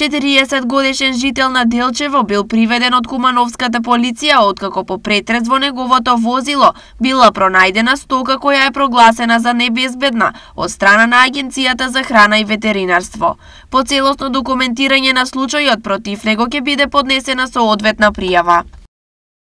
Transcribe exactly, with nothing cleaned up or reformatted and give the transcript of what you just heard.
четириесет годишен жител на Делчево бил приведен од кумановската полиција откако по претрес во неговото возило била пронајдена стока која е прогласена за небезбедна од страна на Агенцијата за храна и ветеринарство. По целосно документирање на случајот против него ќе биде поднесена соодветна пријава.